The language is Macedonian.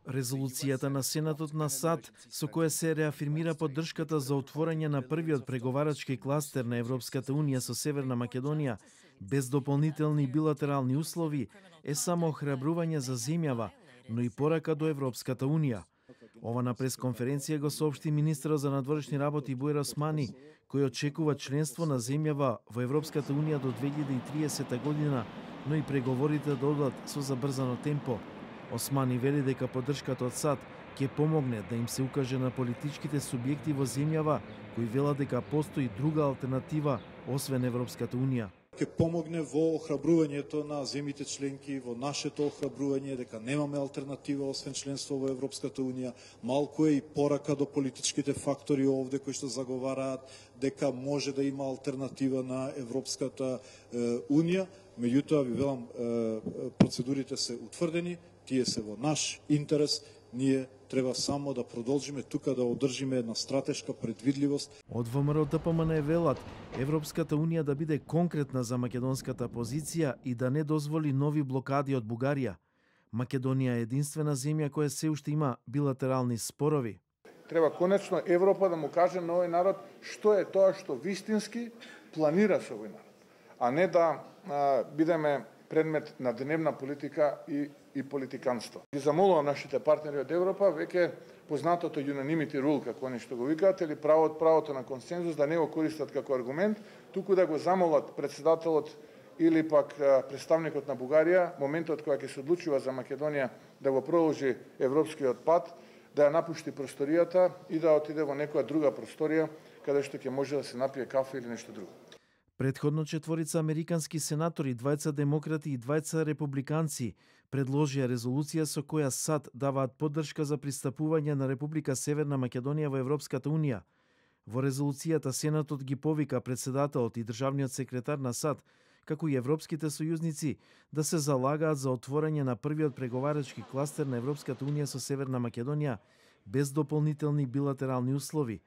Резолуцијата на Сенатот на САД, со која се реафирмира поддршката за отворање на првиот преговарачки кластер на Европската Унија со Северна Македонија, без дополнителни билатерални услови, е само охрабрување за земјава, но и порака до Европската Унија. Ова на пресконференција го соопшти министерот за надворешни работи Буер Османи, кој очекува членство на земјава во Европската Унија до 2030 година, но и преговорите да одат со забрзано темпо. Османи вели дека поддршката од САД ќе помогне да им се укаже на политичките субјекти во земјава кои велат дека постои друга алтернатива освен Европската Унија. Ќе помогне во охрабрувањето на земјите членки, во нашето охрабрување дека немаме алтернатива освен членство во Европската Унија. Малку е и порака до политичките фактори овде кои што заговараат дека може да има алтернатива на Европската Унија. Меѓутоа, ви велам, процедурите се утврдени, тие се во наш интерес, ние треба само да продолжиме тука да одржиме една стратешка предвидливост. Од ВМРО ДПМН велат Европската Унија да биде конкретна за македонската позиција и да не дозволи нови блокади од Бугарија. Македонија е единствена земја која се уште има билатерални спорови. Треба конечно Европа да му каже на овој народ што е тоа што вистински планира со овој народ, а не да бидеме предмет на дневна политика и политиканство. Ги замолувам нашите партнери од Европа, веќе познатото unanimity rule, како они што го викаат, или правото на консензус, да не го користат како аргумент, туку да го замолат председателот или пак представникот на Бугарија, моментот кога ќе се одлучува за Македонија да го продолжи европскиот пат, да ја напушти просторијата и да отиде во некоја друга просторија, каде што ќе може да се напие кафе или нешто друго. Предходно четворица американски сенатори, двајца демократи и двајца републиканци, предложија резолуција со која САД даваат поддршка за пристапување на Република Северна Македонија во Европската Унија. Во резолуцијата Сенатот ги повика председателот и државниот секретар на САД, како и европските сојузници, да се залагаат за отворање на првиот преговарачки кластер на Европската Унија со Северна Македонија без дополнителни билатерални услови,